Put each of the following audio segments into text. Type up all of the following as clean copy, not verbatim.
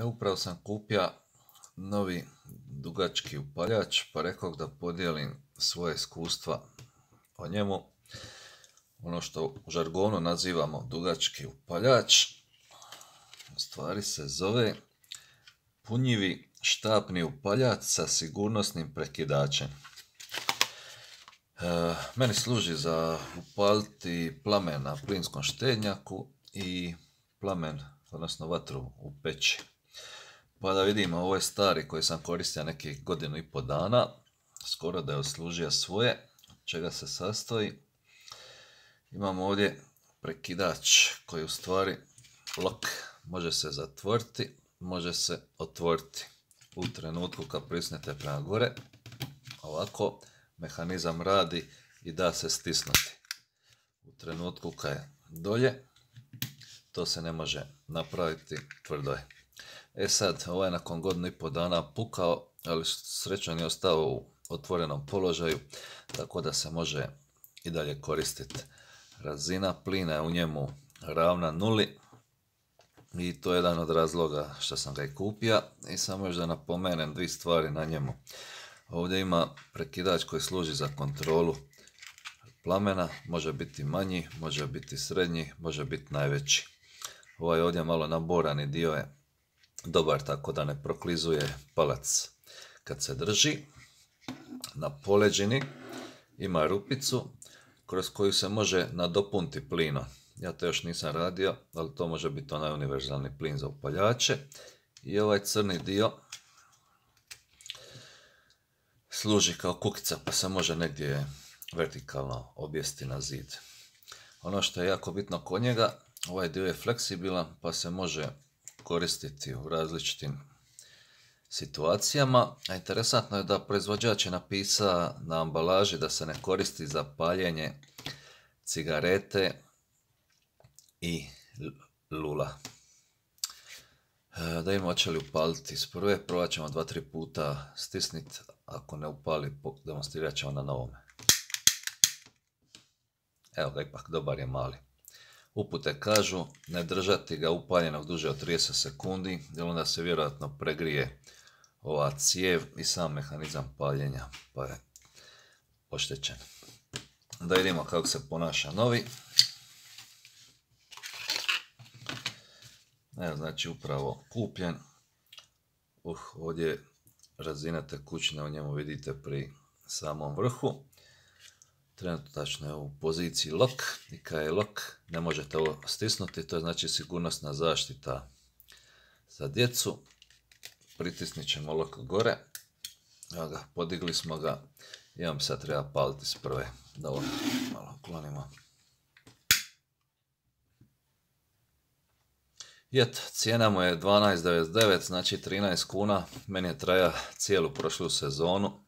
Upravo sam kupio novi dugački upaljač, pa rekao da podijelim svoje iskustva o njemu. Ono što u žargonu nazivamo dugački upaljač, u stvari se zove punjivi štapni upaljač sa sigurnosnim prekidačem. Meni služi za upaliti plamen na plinskom štednjaku i plamen, odnosno vatru u peći. Pa da vidimo, ovo je stari koji sam koristio nekih 1,5 dana, skoro da je odslužio svoje. Od čega se sastoji? Imamo ovdje prekidač koji u stvari lok, može se zatvoriti, može se otvoriti. U trenutku kad prisnete prema gore, ovako mehanizam radi i da se stisnuti. U trenutku kad je dolje, to se ne može napraviti, tvrdo je. Sad, ovaj nakon 1,5 dana pukao, ali srećom je ostao u otvorenom položaju, tako da se može i dalje koristiti. Razina plina je u njemu ravna 0 i to je jedan od razloga što sam ga i kupio. I samo još da napomenem dvije stvari na njemu. Ovdje ima prekidač koji služi za kontrolu plamena, može biti manji, može biti srednji, može biti najveći. Ovaj ovdje malo naborani dio je dobar, tako da ne proklizuje palac kad se drži. Na poleđini ima rupicu kroz koju se može nadopuniti plinom. Ja to još nisam radio, ali to može biti onaj univerzalni plin za upaljače. I ovaj crni dio služi kao kukica, pa se može negdje vertikalno objesti na zid. Ono što je jako bitno kod njega, ovaj dio je fleksibilan, pa se može koristiti u različitim situacijama. A interesantno je da proizvođač je napisao na ambalaži da se ne koristi za paljenje cigarete i lula. Da vidimo hoće li upaliti iz prve, provat ćemo 2-3 puta stisniti, ako ne upali demonstrirat ćemo na novome. Evo ga, ipak dobar je mali. Upute kažu ne držati ga upaljenog duže od 30 sekundi, jer onda se vjerojatno pregrije ova cijev i sam mehanizam paljenja, pa je oštećen. Da vidimo kako se ponaša novi. Evo, znači upravo kupljen. Ovdje razina tekućine u njemu vidite pri samom vrhu. Trenutačno je u poziciji lock i kad je lock ne možete ovo stisnuti, to je znači sigurnosna zaštita za djecu. Pritisnit ćemo lock gore. Evo ga, podigli smo ga i vam sad treba paliti s prve. Da ovo malo uklonimo. I eto, cijena mu je 12,99, znači 13 kuna. Meni je traja cijelu prošlu sezonu,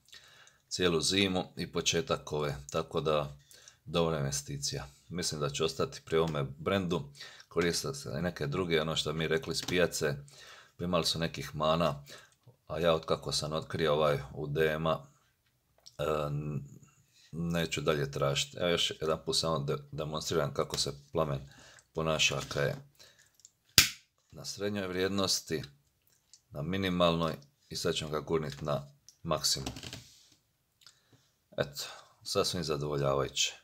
cijelu zimu i početak ove, tako da dobra investicija. Mislim da će ostati pri ovome brendu, koristiti se i neke druge, ono što mi rekli s pijace, imali su nekih mana, a ja otkako sam otkrio ovaj u DM-a, neću dalje tražiti. Ja još jedan put samo demonstriram kako se plamen ponaša kad je na srednjoj vrijednosti, na minimalnoj i sad ćemo ga gurniti na maksimum. Eto, sasvim zadovoljavajuće.